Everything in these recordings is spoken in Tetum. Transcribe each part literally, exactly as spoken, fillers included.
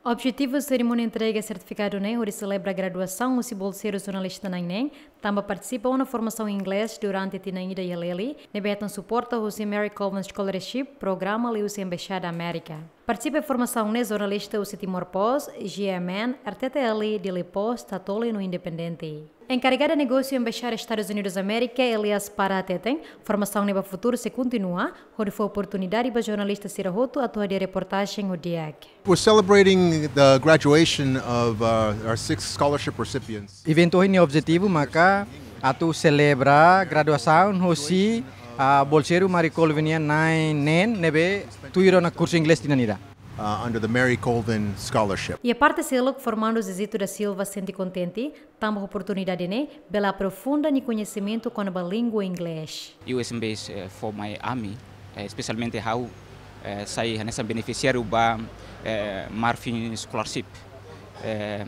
Objetivu serimónia entrega sertifikadu ne'e hodi selebra graduasaun husi bolseiru jornalista na'in-neen, tanba partisipa ona formasaun inglés durante tinan ida iha Lely, ne'ebé hetan suporta husi Mary Colvin Scholarship, programa liuhusi Embaixada Amérika. Partisipa iha formasaun ne'e jornalista husi Timor Post, G M N, R T T L, Dili Post, Tatoli no Independente. Enkarregada negósiu Embaixada Estadus Unidus Amérika, Elias Parra hateten, formasaun ne'e ba futuru sei kontinua, hodi fó oportunidade ba jornalista sira hotu atu hadi'a reportajen ho di'ak. We're celebrating the graduation of, uh, our six scholarship recipients. Eventu ohin nia objetivu maka atu selebra graduasaun husi, ah, bolseiru Mary Colvin nian na'in-neen ne'ebé tuir ona kursu inglés tinan ida. Uh, under the Mary Colvin Scholarship. Iha parte seluk, formandu Zezito da Silva sente kontente, tanba oportunidade ne'e bele aprofunda nia koñesimentu kona-ba língua inglés. U S M Bs, eh, fó mai ami, eh, espesialmente ha'u, eh, sai hanesan benefisiáriu ba, eh, Marfin Scholarship. Eh,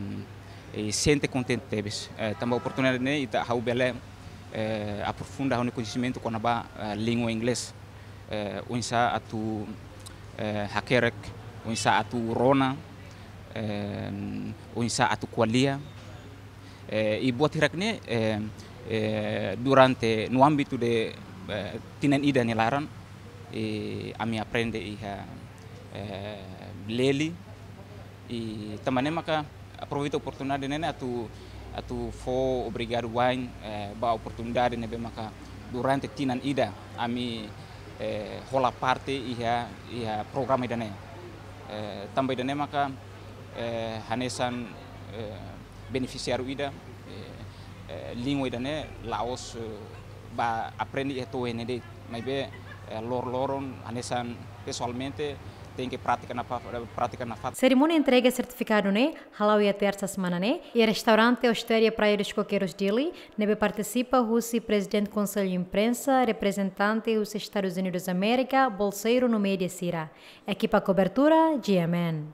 i sente kontente tebes. Eh, tanba oportunidade ne'e ita ha'u bele, eh, aprofunda ha'u-nia koñesimentu kona-ba, eh, língua inglés. Eh, oinsá atu, eh, hakerek, oinsá atu rona, eh, oinsá atu ko'alia. Eh, i buat hirak ne'e, eh, eh, durante no ámbitu de, eh, tinan ida nia laran, eh, ami aprende iha, eh, Lely, i tanba ne'e maka aproveita oportunidade ne'e atu, atu fó obrigadu wa'in, eh, ba oportunidade ne'ebé maka durante tinan ida ami, eh, hola parte iha, iha programa ida-ne'e. Eh, tanba ida-ne'e maka, eh, hanesan, eh, benefisiáriu ida, eh, eh, língua ida-ne'e la'ós, eh, ba aprende iha to'o iha ne'e de'it, maibé, eh, lor-loron hanesan pesoalmente tenke pratika nafa-, pratika nafatin. Serimónia entrega sertifikadu ne'e hala'o iha tersa semana ne'e, iha restaurante Ostaria Praia dos Coqueiros Dili, ne'ebé partisipa husi Prezidente Konsellu Imprensa, reprezentante husi Estadus Unidus Amérika, bolseiru no média sira. Ekipa kobertura, G M N.